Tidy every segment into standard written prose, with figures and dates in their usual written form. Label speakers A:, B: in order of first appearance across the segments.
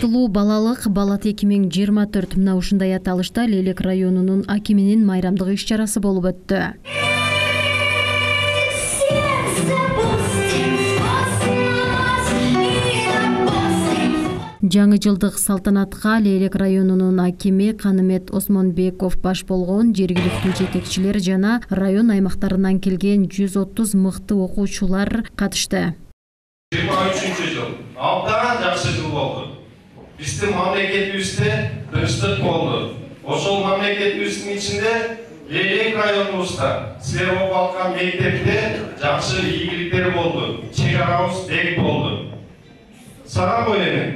A: Бактылуу балалык Балат 2024 мына ушундай аталышта Лейлек районунун акиминин майрамдык иш-чарасы болуп өттү. Жаңы жылдык салтанатка Лейлек районунун акими Канымет Осмонбеков баш болгон жергиликтүү жетекчилер жана район аймактарынан келген 130 мыкты окуучулар катышты.
B: 23-жыл абдан жакшы жыл болду. Биздин мамлекетибизде тынчтык болду. Ошол мамлекетибиздин ичинде Лейлек районубузда силер окуп аткан мектепте жакшы ийгиликтер болду. Чек арабыз бек болду. Сага коеюн.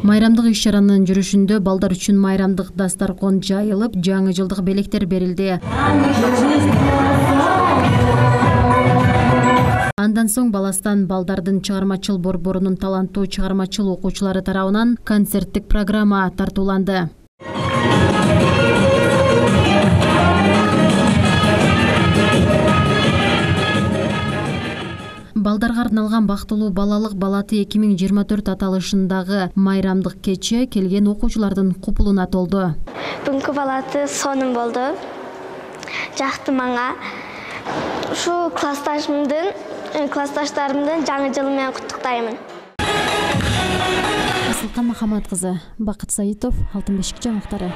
A: Майрамдык иш-чаранын жүрүшүндө балдар үчүн майрамдык дастаркон жайылып, жаңы жылдык белектер берилди. Андан соң Баластан балдардын чыгармачыл борборунун таланттуу чыгармачыл окуучулары тарабынан концерттик программа тартууланды. Балдарга арналган Бактылуу балалык Балаты 2024 аталышындагы майрамдык кече келген окуучулардын купулуна толду.
C: Бүгүнкү Балаты сонун болду. Жакты мага. Ушу классташтарымдын жаңы жылы менен куттуктаймын.
A: Асылкан Махамат кызы, Бакыт Саитов, Алтын бешик жаңылыктары.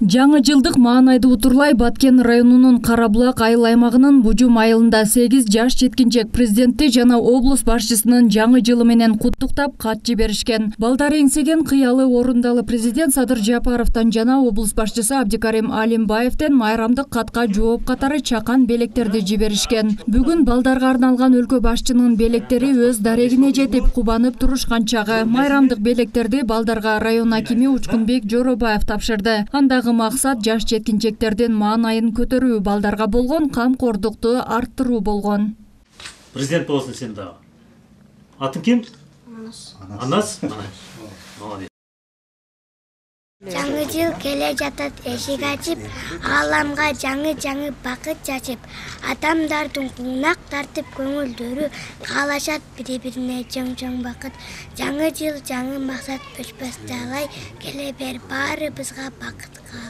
D: Жаңы жылдык маанайды утурлай Баткен районунун Карабулак айыл аймагынын Бужум айылында 8 жаш жеткинчек президентти жана облус башчысынын жаңы жылы менен куттуктап кат жиберишкен. Балдар эңсеген кыялы орундалы президент Садыр Жапаровдон жана облус башчысы Абдикарим Алимбаевден майрамдык катка жооп катары чакан белектерди жиберишкен. Бүгүн балдарга арналган өлкө башчынын белектери өз дарегине жетип кубанып турушкан чагы. Майрамдык белектерди балдарга район акими Учкунбек Жоробаев тапшырды. Андагы максат жаш жеткинчектердин маанайын көтөрүү, балдарга болгон камкордукту арттыруу болгон.
E: Президент болсун сен дагы. Атың ким? Анас. Молодец.
C: Жаңы жыл келе жатат, эшик ачып, ааламга жаңы бакыт чачып, адамдардын кунак тартып көңүлдөрү каалашат бири-бирине чоң бакыт. Жаңы жыл жаңы максат өчпөстө алай, келе бер баарыбызга бакыт каалай.